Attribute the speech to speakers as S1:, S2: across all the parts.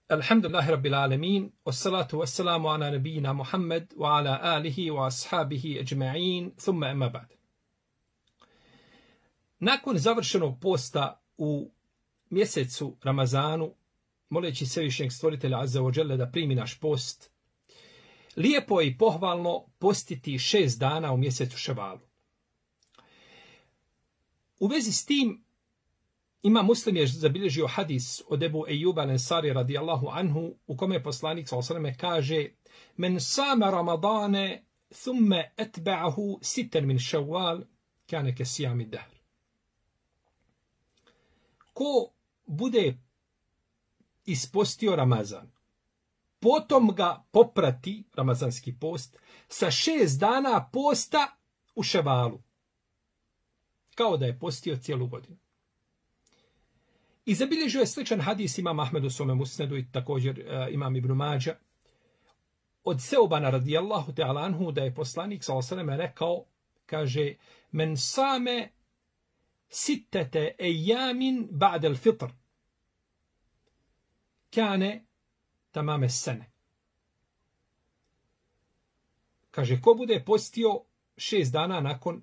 S1: Alhamdulillahi rabbil alamin, wassalatu wassalamu ala nabiyina Muhammad wa ala alihi wa ashabihi ajma'in, thumma amma ba'd. Nakon završenog posta u mjesecu Ramazanu, moleći Svevišnjeg Stvoritelja Azza wa Jalla da primi naš post, lijepo je i pohvalno postiti 6 dana u mjesecu Ševalu. U vezi s tim, Muslim je zabilježio hadis od Ebu Ejuba al-Ensari radijallahu anhu, u kome poslanik s.a.v. kaže: Men sama Ramadane thumme etba'ahu sitan min Šawwal kane ke sijami dahr. Ko bude ispostio Ramazan, potom ga poprati, ramazanski post, sa 6 dana posta u Ševalu, kao da je postio cijelu godinu. I zabilježio je sličan hadis imam Ahmed u svome musnedu i također imam Ibn Mađa od Seubana radijallahu ta'ala anhu, da je poslanik s.a.v. rekao, kaže: Men same sittete ejamin ba'del fitr kane tamame sene. Kaže, ko bude postio 6 dana nakon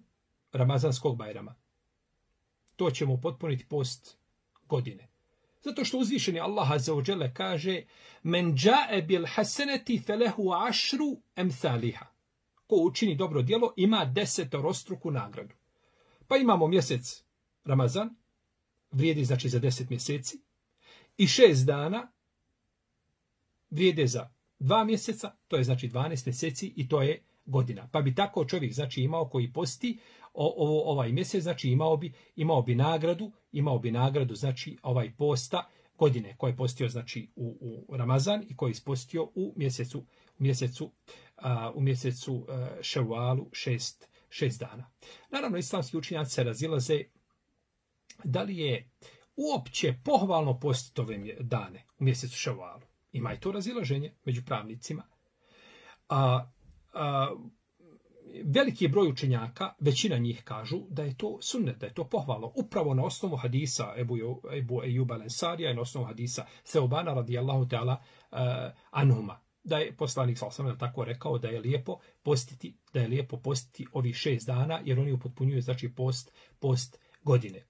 S1: Ramazanskog Bajrama, to će mu potpuniti post godine. Zato što uzvišeni Allah azza wa jalla kaže: Men ja'e bil haseneti felehu ašru emthaliha. Ko učini dobro djelo ima 10-struku nagradu. Pa imamo mjesec Ramazan, vrijedi znači za 10 mjeseci, i 6 dana vrijede za 2 mjeseca, to je znači 12 mjeseci i to je godina. Pa bi tako čovjek znači imao koji posti ovaj mjesec, znači imao bi nagradu znači ovaj posta godine koji je postio znači u Ramazan i koji je ispostio u mjesecu Ševalu 6 dana. Naravno, islamski učenjaci se razilaze da li je uopće pohvalno postiti ove dane u mjesecu Ševalu. Ima i to razilaženje među pravnicima. Veliki broj učenjaka, većina njih kažu da je to sunnet, da je to pohvalno. Upravo na osnovu hadisa Ebu Ejuba al-Ensarija i na osnovu hadisa Seubana radijallahu ta'ala anhuma. Da je poslanik s.a.v. tako rekao da je lijepo postiti ovih 6 dana, jer oni upotpunjuju znači post godine.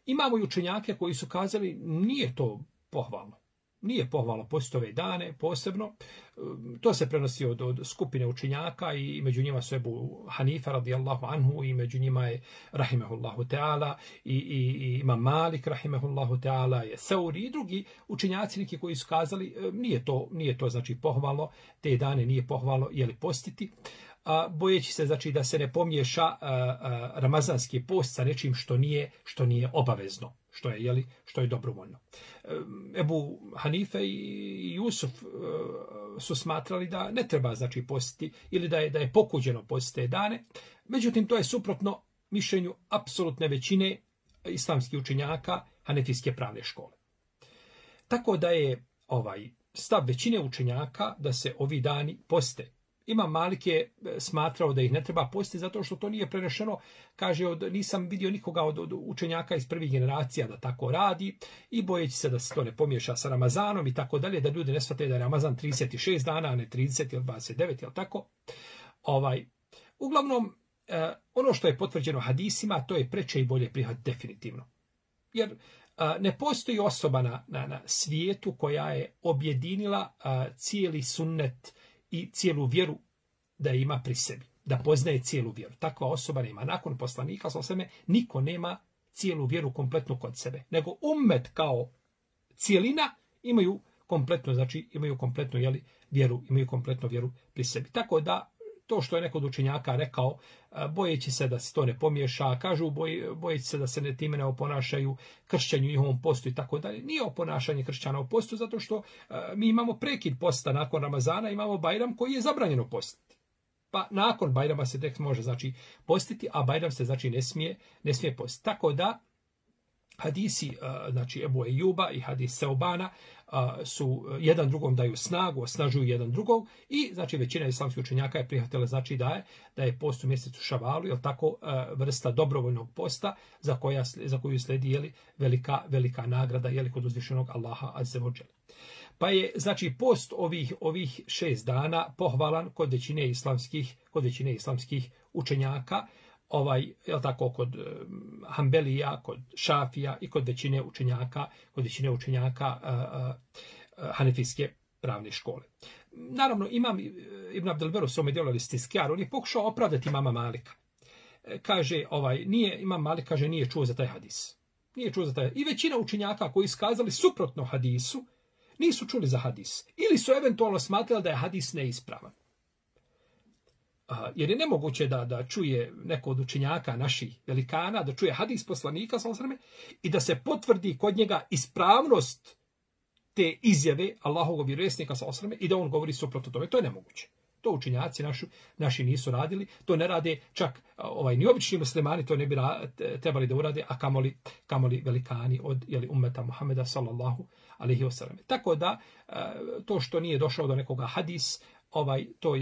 S1: Imamo i učenjake koji su kazali nije to pohvalno. Nije pohvalno postiti ove dane posebno. To se prenosi od skupine učenjaka i među njima su Ebu Hanifa radijallahu anhu i među njima je rahimehullahu ta'ala i Imam Malik rahimehullahu ta'ala i Seuri i drugi učenjaci neki koji su kazali nije to znači pohvalno, te dane nije pohvalno postiti. Bojeći se znači da se ne pomiješa ramazanski post sa nečim što nije obavezno, što je dobrovoljno. Ebu Hanife i Jusuf su smatrali da ne treba znači postiti ili da je pokuđeno postiti te dane. Međutim, to je suprotno mišljenju apsolutne većine islamskih učenjaka hanefijske pravne škole. Tako da je stav većine učenjaka da se ovi dani poste. Imam Malik je smatrao da ih ne treba postiti zato što to nije prenešeno, kaže, nisam vidio nikoga od učenjaka iz prvih generacija da tako radi i bojeći se da se to ne pomiješa sa Ramazanom i tako dalje, da ljudi ne shvate da je Ramazan 36 dana, a ne 30 ili 29, ili tako. Uglavnom, ono što je potvrđeno hadisima, to je preče i bolje prihvat definitivno. Jer ne postoji osoba na svijetu koja je objedinila cijeli sunnet i cijelu vjeru da ima pri sebi, da poznaje cijelu vjeru. Takva osoba nema. Nakon poslanika s.a.v. niko nema cijelu vjeru kompletnu kod sebe, nego ummet kao cijelina imaju kompletnu vjeru pri sebi. Tako da to što je neko od učenjaka rekao, bojeći se da se to ne pomiješa, kažu bojeći se da se time ne oponašaju kršćanju njihovom postu i tako dalje. Nije oponašanje kršćana u postu, zato što mi imamo prekid posta nakon Ramazana, imamo Bajram koji je zabranjeno postiti. Pa nakon Bajrama se tek može znači postiti, a Bajram se znači ne smije postiti. Tako da hadisi, znači Ebu Ejuba i hadis Seobana su jedan drugom daju snagu, osnažuju jedan drugog i znači većina islamskih učenjaka je prihvatila znači da je post u mjesecu Šavalu, jel tako, vrsta dobrovoljnog posta za koju slijedi jeli, velika nagrada jeli, kod uzvišenog Allaha azza wa dželle. Pa je znači post ovih 6 dana pohvalan kod većine islamskih učenjaka, jel tako, kod Hanbelija, kod Šafija i kod većine učenjaka Hanefijske pravne škole. Naravno, imam Ibn Abdelber u svome djelu Al-Istizkar, on je pokušao opravdati imama Malika. Kaže, imam Malik kaže nije čuo za taj hadis. Nije čuo za taj. I većina učenjaka koji iskazali suprotno hadisu nisu čuli za hadis. Ili su eventualno smatrali da je hadis neispravan. Jer je nemoguće da čuje neko od učenjaka naših velikana, da čuje hadis poslanika i da se potvrdi kod njega ispravnost te izjave Allahovog vjerovjesnika i da on govori suprotno tome. To je nemoguće. To učenjaci naši nisu radili, to ne rade čak ni obični muslimani, to ne bi trebali da urade, a kamoli velikani od ummeta Muhameda sallallahu alejhi ve sellem. Tako da to što nije došao do nekoga hadis, to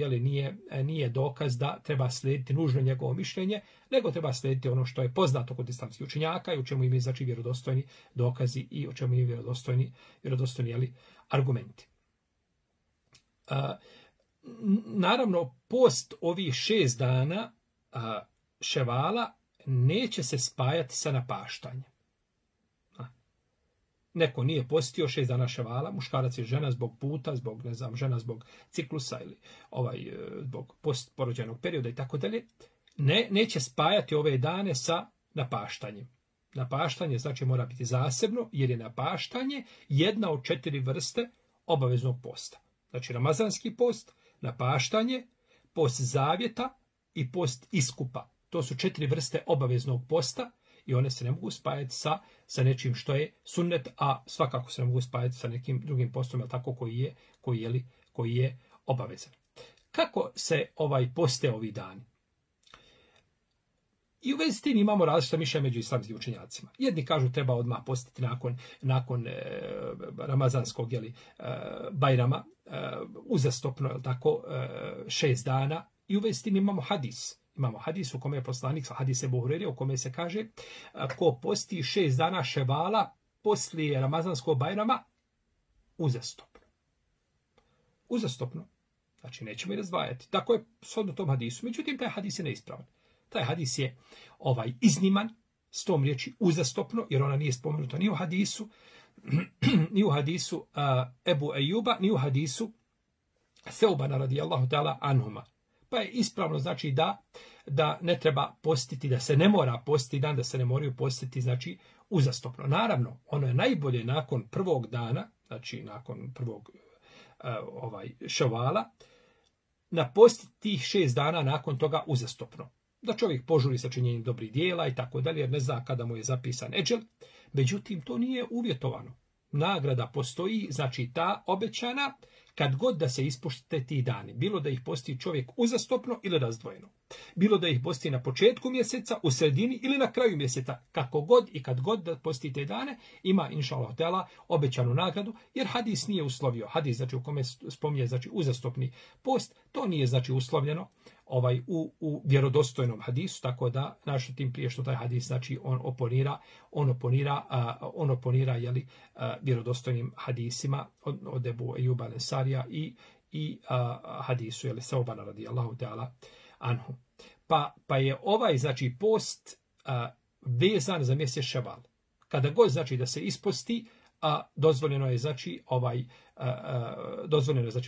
S1: nije dokaz da treba slijediti nužno njegovo mišljenje, nego treba slijediti ono što je poznato kod islamskih učenjaka i u čemu imaju znači vjerodostojni dokazi i u čemu imaju vjerodostojni argumenti. Naravno, post ovih 6 dana Ševala neće se spajati sa napaštanjem. Neko nije postio 6 dana Ševala, muškarac i žena zbog puta, žena zbog ciklusa ili zbog postporođajnog perioda i tako dalje, neće spajati ove dane sa napaštanjem. Napaštanje znači mora biti zasebno, jer je napaštanje jedna od 4 vrste obaveznog posta. Znači ramazanski post, napaštanje, post zavjeta i post iskupa. To su 4 vrste obaveznog posta i one se ne mogu spajati sa nečim što je sunnet, a svakako se ne mogu spajati sa nekim drugim postom, jel tako, koji je obavezan. Kako se poste ovi dani? I u vezi s tim imamo različita mišljenja među islamskim učenjacima. Jedni kažu treba odmah postiti nakon ramazanskog Bajrama, uzastopno, jel tako, 6 dana. I u vezi s tim imamo hadis. Imamo hadis u kome je poslanik, hadis Ebu Hurajre, u kome se kaže ko posti 6 dana Ševala poslije ramazanskog Bajrama, uzastopno. Uzastopno. Znači nećemo i razdvajati. Tako je shodno tom hadisu. Međutim, taj hadis je neispravan. Taj hadis je izniman, s tom riječi uzastopno, jer ona nije spomenuta ni u hadisu Ebu Ejuba, ni u hadisu Seobana radijallahu ta'ala anhuma. Pa je ispravno znači da ne treba postiti, da se ne mora postiti dan, da se ne moraju postiti znači uzastopno. Naravno, ono je najbolje nakon prvog dana, znači nakon prvog Ševala, napostiti tih 6 dana nakon toga uzastopno. Da čovjek požuri sa činjenjem dobrih dijela i tako dalje, jer ne zna kada mu je zapisan eđel. Međutim, to nije uvjetovano. Nagrada postoji, znači ta obećana, kad god da se ispušte ti dani. Bilo da ih posti čovjek uzastopno ili razdvojeno. Bilo da ih posti na početku mjeseca, u sredini ili na kraju mjeseca. Kako god i kad god da posti te dane, ima inšallah ta'ala obećanu nagradu, jer hadis nije uslovio. Hadis znači u kome spominje znači uzastopni post, to nije znači uslovljeno u vjerodostojnom hadisu, tako da naš tim prije što taj hadis znači on oponira vjerodostojnim hadisima od Ebu Ejuba Al-Ensarija i hadisu Seobana radijallahu ta'ala anhu. Pa je znači post vezan za mjesec Ševal. Kada god znači da se isposti, dozvoljeno je znači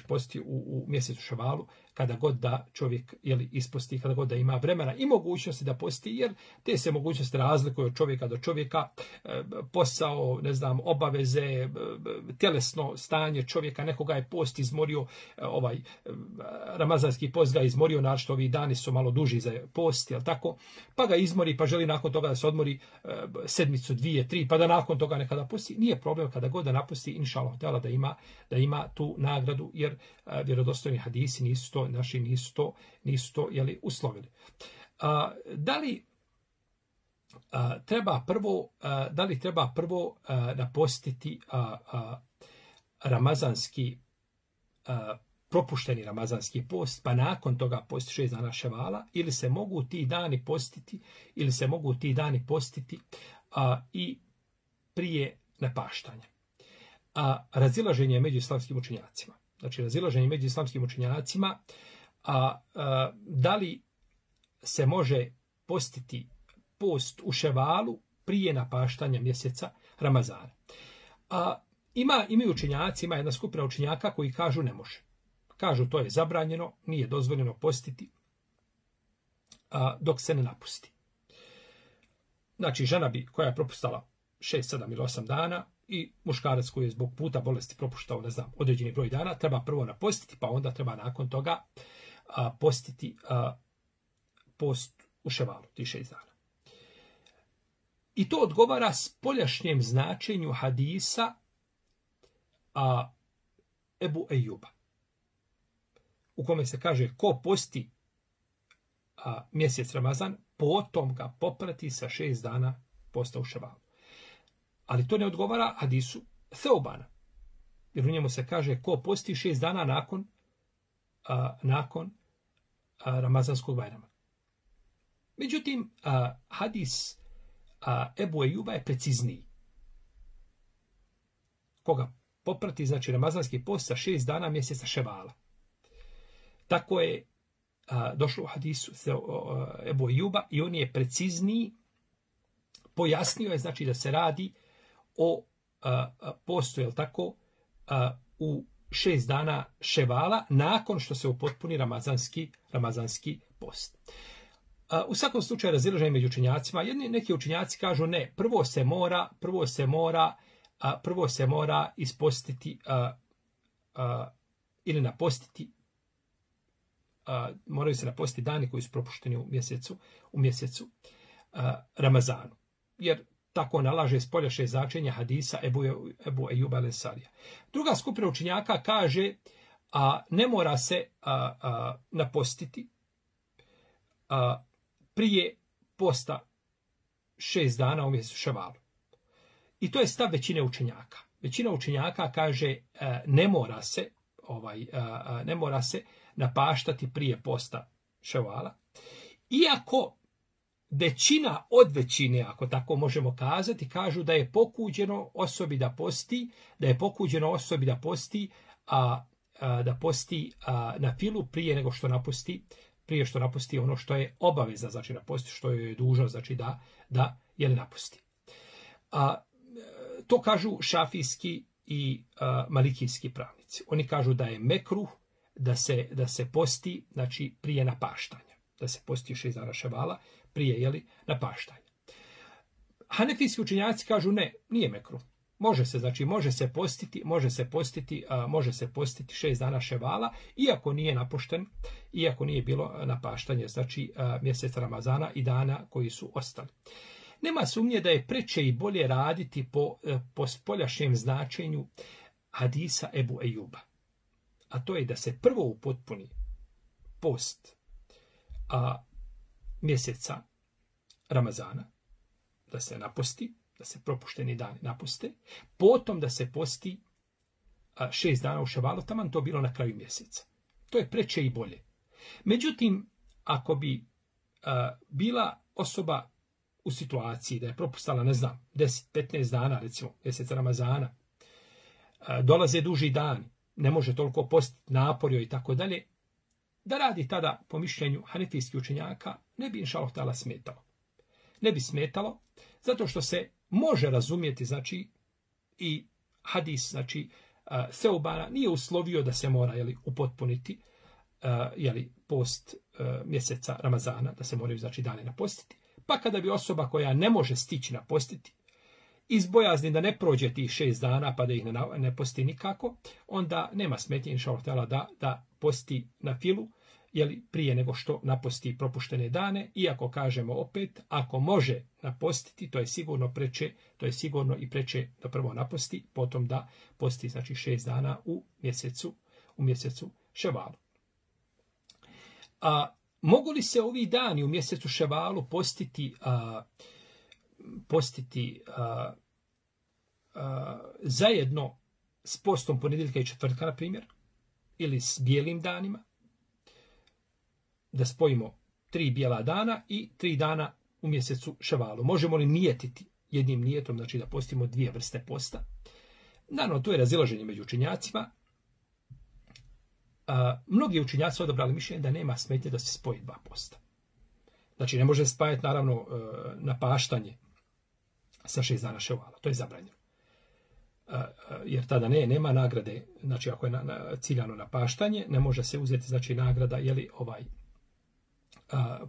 S1: postiti u mjesecu Ševalu, kada god da čovjek isposti, kada god da ima vremena i mogućnosti da posti, jer te se mogućnosti razlikuju od čovjeka do čovjeka, posao, obaveze, tjelesno stanje čovjeka, nekoga je post izmorio, ramazanski post ga izmorio, našto ovi dani su malo duži za post, jel tako, pa ga izmori, pa želi nakon toga da se odmori sedmicu, 2, 3, pa da nakon toga nekada posti. Nije problem kada god da napusti, inšallah, da ima tu nagradu, jer vjerodostojni hadisi nisu to uslovili. Da li da li treba prvo napostiti ramazanski propušteni ramazanski post, pa nakon toga posti 6 dana ševala, ili se mogu ti dani postiti i prije napaštanja. Razilaženje među islamskim učenjacima. Znači, razilaženje među islamskim učenjacima, da li se može postiti post u ševalu prije napaštanja mjeseca Ramazana. Imaju učenjaci, ima jedna skupina učenjaka koji kažu ne može. Kažu to je zabranjeno, nije dozvoljeno postiti dok se ne napusti. Znači, žena koja je propustala 6, 7 ili 8 dana i muškarac koji je zbog puta bolesti propuštao, ne znam, određeni broj dana, treba prvo napostiti, pa onda treba nakon toga postiti post u ševalu, ti 6 dana. I to odgovara spoljašnjem značenju hadisa Ebu Ejuba, u kome se kaže ko posti mjesec Ramazan, potom ga poprati sa 6 dana posta u ševalu. Ali to ne odgovara hadisu Theobana, jer u njemu se kaže ko posti 6 dana nakon Ramazanskog Bajrama. Međutim, hadis Ebu Ejuba je precizniji. Koga poprati, znači Ramazanski post sa 6 dana mjeseca ševala. Tako je došlo u hadisu Ebu Ejuba i on je precizniji, pojasnio je znači da se radi o postu, jel tako, u 6 dana ševala nakon što se upotpuni ramazanski post. U svakom slučaju razilaženje među učenjacima. Neki učenjaci kažu ne, prvo se mora ispostiti ili napostiti, moraju se napostiti dani koji su propušteni u mjesecu Ramazanu. Jer tako nalaže spoljašnje značenje hadisa Ebu Ejuba al-Ensarija. Druga skupina učenjaka kaže ne mora se napostiti prije posta 6 dana u mjesecu ševalu. I to je stav većine učenjaka. Većina učenjaka kaže ne mora se napaštati prije posta ševala. Iako većina od većine, ako tako možemo kazati, kažu da je pokuđeno osobi da posti na filu prije što napusti ono što je obaveza, znači napusti što je dužno, znači da je ne napusti. To kažu šafijski i malikijski pravnici. Oni kažu da je mekruh da se posti, znači prije napaštanja. Da se posti 6 dana ševala prije napaštanja. Hanefijski učenjaci kažu ne, nije mekruh. Može se postiti 6 dana ševala, iako nije napušten, iako nije bilo napaštanje, znači mjeseca Ramazana i dana koji su ostali. Nema sumnje da je preče i bolje raditi po spoljašnjem značenju hadisa Ebu Ejuba. A to je da se prvo upotpuni post mjeseca Ramazana, da se naposti, da se propušteni dani napuste, potom da se posti 6 dana u ševalu, taman to bilo na kraju mjeseca. To je preče i bolje. Međutim, ako bi bila osoba u situaciji da je propustala, 10-15 dana, recimo, mjeseca Ramazana, dolaze duži dani, ne može toliko postiti, naporio i tako dalje, da radi tada, po mišljenju hanefijskih učenjaka, ne bi inšallah ta'ala smetalo. Ne bi smetalo, zato što se može razumjeti, znači, i hadis, znači, Seubana nije uslovio da se mora upotpuniti post mjeseca Ramazana, da se moraju, znači, dane napostiti. Pa kada bi osoba koja ne može stići napostiti, iz bojazni da ne prođe tih 6 dana pa da ih ne posti nikako, onda nema smetnje inšallah ta'ala da posti na filu, prije nego što naposti propuštene dane, iako kažemo opet, ako može napostiti, to je sigurno i preče da prvo naposti, potom da posti, znači 6 dana u mjesecu ševalu. Mogu li se ovi dani u mjesecu ševalu postiti postiti zajedno s postom ponedjeljka i četvrtka, na primjer, ili s bijelim danima, da spojimo 3 bijela dana i 3 dana u mjesecu Ševalu. Možemo li nijetiti jednim nijetom, znači da postimo 2 vrste posta? Naravno, to je razilaženje među učenjacima. Mnogi učenjaci odabrali mišljenje da nema smetnje da se spoji 2 posta. Znači, ne može spajati, naravno, napaštanje sa 6 dana Ševala. To je zabranjeno. Jer tada nema nagrade, znači ako je ciljano napaštanje, ne može se uzeti, znači, nagrada, jeli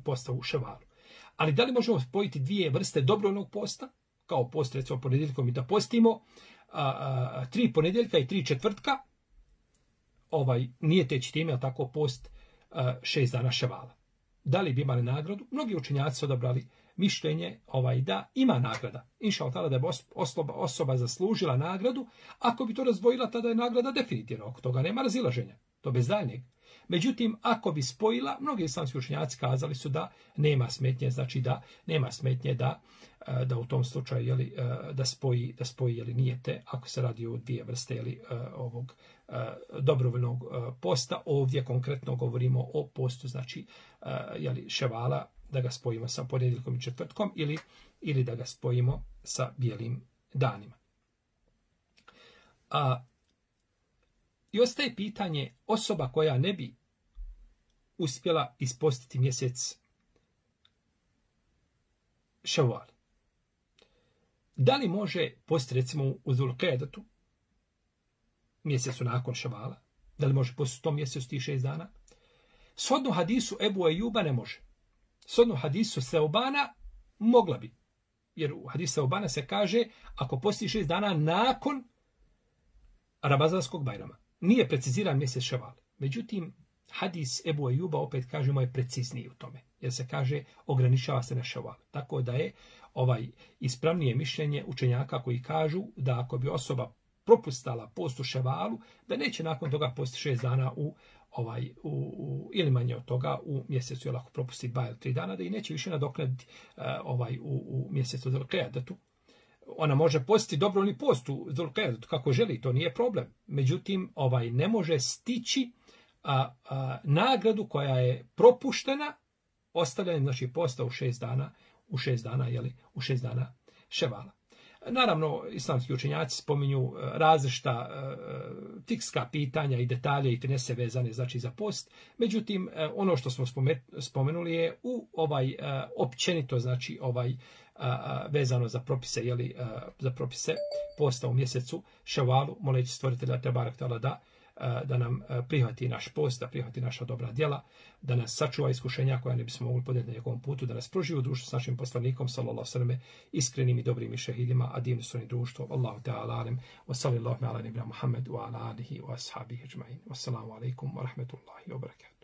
S1: posta u Ševalu. Ali da li možemo spojiti 2 vrste dobrovoljnog posta, kao post, recimo, ponedjeljkom i da postimo 3 ponedjeljka i 3 četvrtka, nije teći time, ali tako post 6 dana Ševala. Da li bi imali nagradu? Mnogi učenjaci su odabrali mišljenje da ima nagrada. Inša Allah, da je osoba zaslužila nagradu, ako bi to razdvojila, tada je nagrada definitivno. Oko toga nema razilaženja. To bez daljnjeg. Međutim, ako bi spojila, mnogi islamski učenjaci kazali su da nema smetnje, znači da nema smetnje da u tom slučaju da spoji nijete, ako se radi o 2 vrste ovog dobrovoljnog posta. Ovdje konkretno govorimo o postu, znači Ševala, da ga spojimo sa ponedjeljkom i četvrtkom ili da ga spojimo sa bijelim danima. I ostaje pitanje, osoba koja ne bi uspjela ispostiti mjesec Ševal, da li može postiti recimo u Zulqedetu, mjesecu nakon Ševala, da li može postiti u tom mjesecu tih 6 dana? Shodno hadisu Ebu Ejuba ne može. Shodno hadisu Seobana mogla bi. Jer u hadisu Seobana se kaže, ako posti 6 dana nakon Ramazanskog Bajrama. Nije preciziran mjesec Ševal. Međutim, hadis Ebu Ejuba, opet kažemo, je precizniji u tome. Jer se kaže, ograničava se na Ševal. Tako da je ispravnije mišljenje učenjaka koji kažu da ako bi osoba propustala post u Ševalu, da neće nakon toga posti 6 dana ili manje od toga u mjesecu, jer ako propusti 2 ili 3 dana, da i neće više nadoknaditi u mjesecu Zulqedetu. Ona može postiti dobrovoljni post u Zulqedetu kako želi, to nije problem. Međutim, ne može stići nagradu koja je propuštena ostavljanjem, znači, posta u 6 dana, u 6 dana Ševala. Naravno, islamski učenjaci spominju različita fikska pitanja i detalje i finese vezane, znači, za post. Međutim, ono što smo spomenuli je općenito, znači, vezano za propise, za propise posta u mjesecu Ševalu, moleći stvoritelja Tebarek Teala da nam prihvati naš post, da prihvati naša dobra djela, da nas sačuva iskušenja koja ne bismo mogli podnijeti na njegovom putu, da nas proživi u društvu s našim poslanikom, sallallahu alejhi iskrenim i dobrim i šehidima, a divno su oni društvo. Allahu ta'ala alem, wa sallallahu ala nebina Muhammed, wa ala alihi wa ashabihi ajma'in. Wassalamu alaikum wa rahmetullahi wa barakatuh.